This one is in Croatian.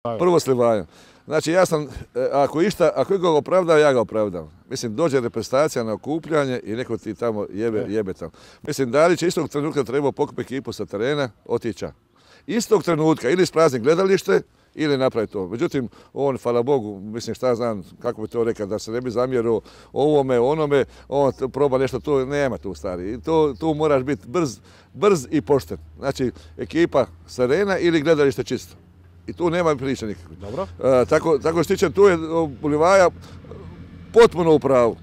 Prvo slivaju. Znači ja sam, ako ikoga opravdam, ja ga opravdam. Mislim, dođe reprezentacija na okupljanje i neko ti tamo jebe tamo. Mislim, Dalić je istog trenutka trebao pokupiti ekipu sa terena, otića. Istog trenutka ili isprazni gledalište ili napravi to. Međutim, on, hvala Bogu, mislim šta znam, kako bi to rekao, da se ne bi zamjerio ovome, onome, on proba nešto, tu nema tu stari. I tu moraš biti brz i pošten. Znači, ekipa sa terena ili gledalište čisto. I tu nema priče nikakve. Dobro. Tako što tiče, tu je Bulivaja potpuno u pravu.